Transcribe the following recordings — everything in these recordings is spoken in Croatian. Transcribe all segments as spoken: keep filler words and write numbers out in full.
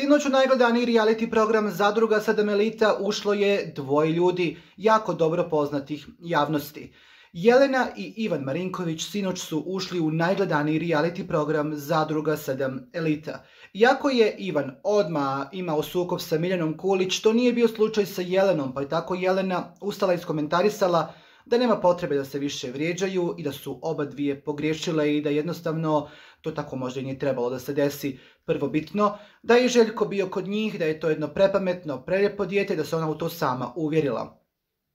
Sinoć u najgledaniji reality program Zadruga sedam Elita ušlo je dvoje ljudi, jako dobro poznatih javnosti. Jelena i Ivan Marinković sinoć su ušli u najgledaniji reality program Zadruga sedam Elita. Iako je Ivan odmah imao sukob sa Miljanom Kulić, to nije bio slučaj sa Jelenom, pa je tako Jelena ustala i iskomentarisala da nema potrebe da se više vrijeđaju i da su oba dvije pogriješile i da jednostavno to tako možda i nije trebalo da se desi. Prvobitno, da je Željko bio kod njih, da je to jedno prepametno, prelijepo dijete, da se ona u to sama uvjerila.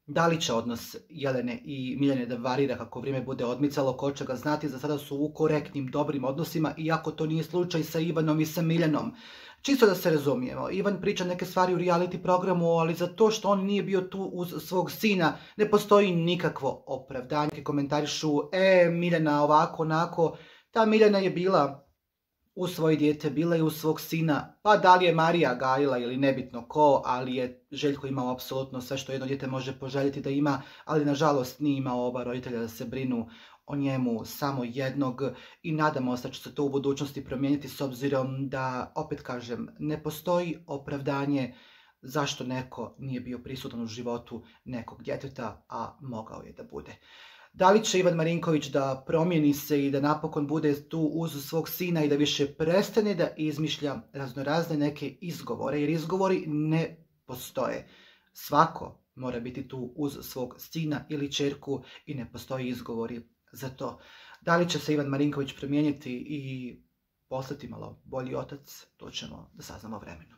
Da li će odnos Jelene i Miljane da varira kako vrijeme bude odmicalo, ko će ga znati, za sada su u korektnim, dobrim odnosima, iako to nije slučaj sa Ivanom i sa Miljanom. Čisto da se razumijemo, Ivan priča neke stvari u reality programu, ali za to što on nije bio tu uz svog sina ne postoji nikakvo opravdanje. Komentarišu, e, Miljana ovako, onako, ta Miljana je bila u svoje dijete, bila je u svog sina, pa da li je Marija gajila ili nebitno ko, ali je Željko imao apsolutno sve što jedno dijete može poželjeti da ima, ali nažalost nije imao oba roditelja da se brinu o njemu, samo jednog, i nadamo se da će se to u budućnosti promijeniti, s obzirom da, opet kažem, ne postoji opravdanje zašto neko nije bio prisutan u životu nekog djeteta, a mogao je da bude. Da li će Ivan Marinković da promijeni se i da napokon bude tu uz svog sina i da više prestane da izmišlja raznorazne neke izgovore, jer izgovori ne postoje. Svako mora biti tu uz svog sina ili ćerku i ne postoji izgovori za to. Da li će se Ivan Marinković promijeniti i postati malo bolji otac, to ćemo da saznamo vremenu.